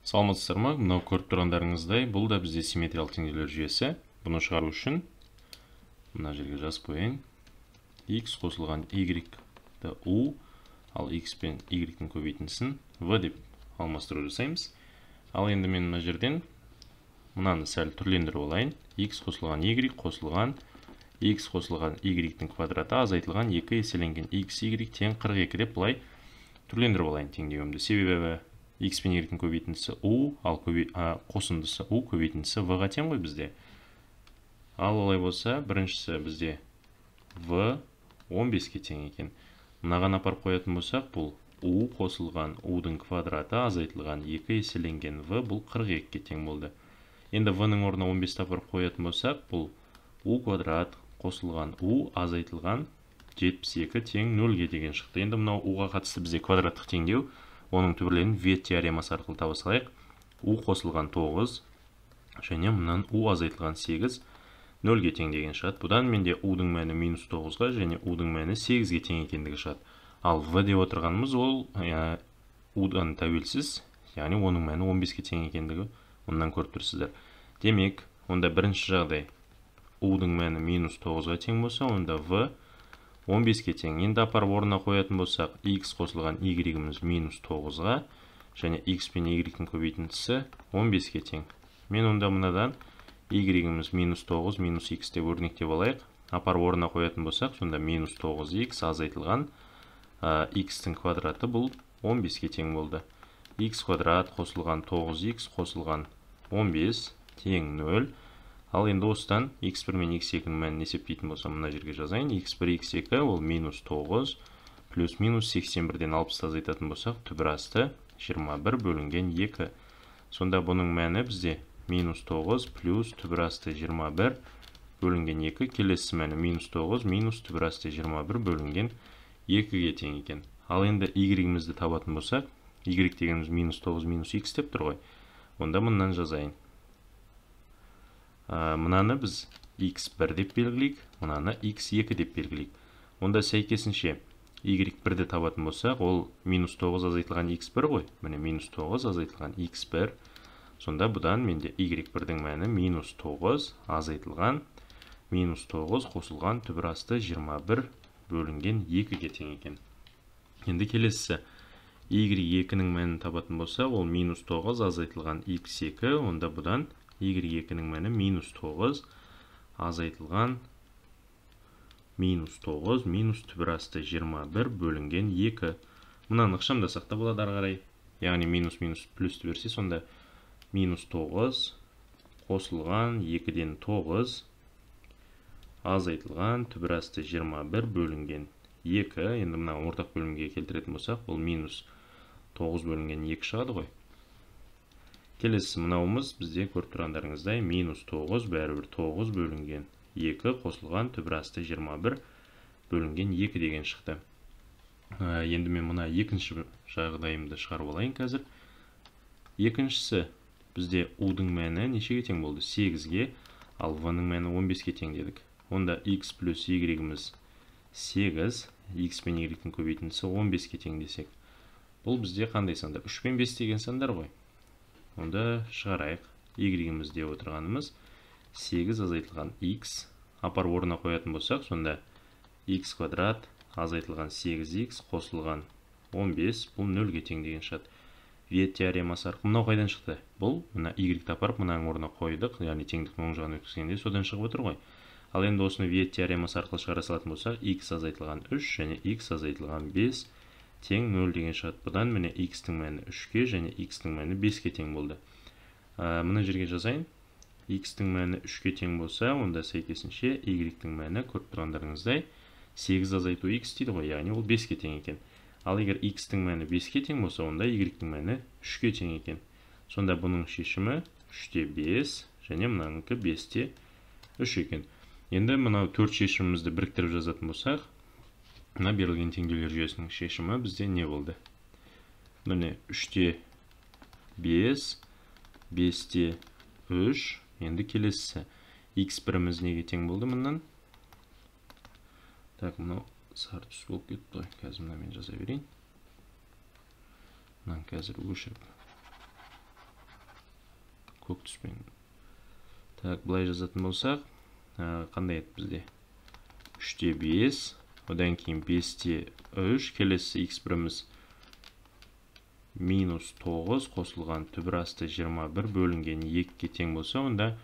Саламатсыздар ма? Мынау көріп тұрғандарыңыздай, бұл да бізде симметриялық теңдеулер жүйесі. Бұны шығару үшін мына жерге жазып қояйын. X қосылған Y-ді U, ал X пен Y-дің көбейтіндісін V деп алмастыру жасаймыз. Ал енді мен мына жерден мынаны сәл түрлендіріп алайын. X қосылған Y қосылған X қосылған Y-дің квадраты азайтылған 2 еселенген X, Y тең 42 деп бұлай түрлендіріп алайын теңдеуімді. Себебі X пен Y-дің көбейтіндісі U, ал қосындысы U, көбейтіндісі V-ға тең ғой бізде. Ал олай болса, біріншісі бізде V 15-ке тең екен. Мынаған апарып қоятын болсақ, бұл U қосылған U-дің квадраты азайтылған 2 еселенген V, бұл 42-ке тең болды. Енді V-ның орнына 15-ті апарып қоятын болсақ, бұл U квадрат қосылған U азайтылған 72 тең 0-ге деген шықты. Енді мынау U-ға қатысты бізде квадраттық теңдеу, оның түбірлерін Вет теоремасы арқылы таба салайық. U қосылған 9 және мұнан U азайтылған 8 0-ге тең деген шығады. Бұдан менде U-дің мәні -9-ға және U-дің мәні 8-ге тең екендігі шығады. Ал V деп отырғанымыз ол U-дан тәуелсіз, яғни оның мәні 15-ге тең екендігі онdan көріп тұрсыздар. Демек, онда бірінші жағдай U-дің мәні -9-ға тең болса, онда V 15-ке тең. Енді апарып орнына қоятын болсақ, X қосылған Y-іміз -9-ға және X пен Y-дің көбейтіндісі 15-ке тең. Мен онда мынадан Y-іміз -9, -X деп өрнектеп алайық. Апарып орнына қоятын болсақ, сонда -9X азайтылған X-тің квадраты бұл 15-ке тең болды. X квадрат қосылған 9X қосылған 15 тең 0. Ал енді осыдан x1 мен x2-ның мәнін есептейтін болсам, мына жерге жазайын. x1, x2 ол -9 плюс -81-ден 60 азайтатын болсақ, түбір асты 21 бөлінген 2. Сонда бұның мәні бізде -9 плюс түбір асты 21 бөлінген 2. Келесі мәні -9 минус түбір асты 21 бөлінген 2-ге тең екен. Ал енді y-імізді табатын болсақ, y дегеніміз -9 -x деп тұр ғой. Онда мұнан жазайын. Мынаны біз x1 деп белгілейік, мынаны x2 деп белгілейік. Онда сәйкесінше y1-ді табатын болсақ, ол -9 азайтылған x1 ғой. Міне -9 азайтылған x1. Сонда бұдан менде y1-дің мәні -9 азайтылған -9 қосылған түбір асты 21 бөлінген 2-ге тең екен. Енді келесісі y2-ның мәнін табатын болсақ, ол -9 азайтылған x2. Онда бұдан y2-ның мәні -9 азайтылған -9 минус түбір асты 21 бөлінген 2. Мұнан ықшамдасақ та болады ары қарай. Яғни минус плюсті берсе, сонда -9 қосылған 2-ден 9 азайтылған түбір асты 21 бөлінген 2. Енді мына ортақ бөлімге келтіретін болсақ, бұл -9 бөлінген 2 шығады ғой. Келесі мынауымыз бізде көріп тұрғандарыңыздай -9 бәрібір 9 бөлінген 2 қосылған түбір асты 21 бөлінген 2 деген шықты. Енді мен мына екінші жағдайымды шығарып алайын қазір. Екіншісі бізде U-дің мәні нешеге тең болды? 8-ге, ал V-ның мәні 15-ке тең дедік. Онда X плюс Y-іміз 8, X пен Y-дің көбейтіндісі 15-ке тең десек. Бұл бізде қандай сандар? 3 пен 5 деген сандар ғой. Онда шығарайық. Y-іміз деп отырғанымыз 8 азайтылған X. Апарып орнына қоятын болсақ, сонда X квадрат азайтылған 8X қосылған 15. Бұл 0-ге тең деген шығады. Вет теоремасы арқылы мынау қайдан шықты? Бұл мына Y-ті апарып мұнаның орнына қойдық. Яғни теңдіктің оң жағын өткізгенде содан шығып отыр ғой. Ал енді осыны вет теоремасы арқылы шығара салатын болсақ, X азайтылған 3 және X азайтылған 5 тең 0 деген шығады. Бұдан міне X-тің мәні 3-ке және X-тің мәні 5-ке тең болды. Мұны жерге жазайын. X-тің мәні 3-ке тең болса, онда сәйкесінше Y-тің мәні көріп тұрғандарыңыздай 8 азайту X дейді ғой, яғни ол 5-ке тең екен. Ал егер X-тің мәні 5-ке тең болса, онда Y-тің мәні 3-ке тең екен. Сонда бұның шешімі 3-те 5 және мұнаңызға 5-те 3 екен. Енді мынау 4 шешімімізді біріктіріп жазатын болсақ, мына берілген теңдеулер жүйесінің шешімі бізде не болды? Міне 3-те 5, 5-те 3. Енді келесісі x1-іміз неге тең болды мұнан? Так, мынау сары түс болып кетті ғой. Қазір мына мен жаза берейін. Мынаны қазір өшіріп көк түспен. Так, былай жазатын болсақ, қандай еді бізде? 3-те 5, одан кейін 5-те 3, келесі x1-іміз минус 9 қосылған түбір асты 21 бөлінген 2-ге тең болса, онда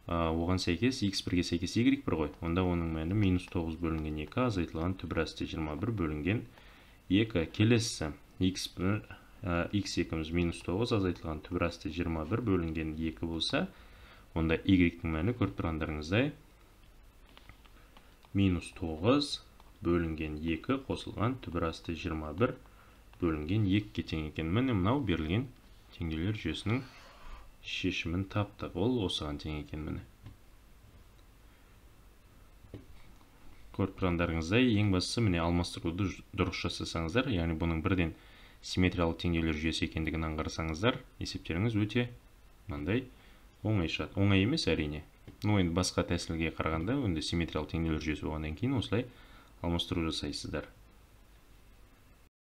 оған сәйкес x1-ге сәйкес y1 ғой. Онда оның мәні минус 9 бөлінген 2 азайтылған түбір асты 21 бөлінген 2. Келесі x2-іміз минус 9 азайтылған түбір асты 21 бөлінген 2 болса, онда y-дің мәні көріп тұрғандарыңыздай минус 9 бөлінген 2 қосылған түбір асты 21 бөлінген 2-ге тең екен. Міне мынау берілген теңдеулер жүйесінің шешімін таптық. Ол осыған тең екен. Міне көріп тұрғандарыңыздай, ең бастысы міне алмастыруды дұрыс жасасаңыздар, яғни бұның бірден симметриялық теңдеулер жүйесі екендігін аңғарсаңыздар, есептеріңіз өте мынандай оңай шығады. Оңай емес әрине. Енді басқа тәсілге қарағанда, енді симметриялық теңдеулер жүйесі болғаннан кейін осылай алмастыру жасайсыздар.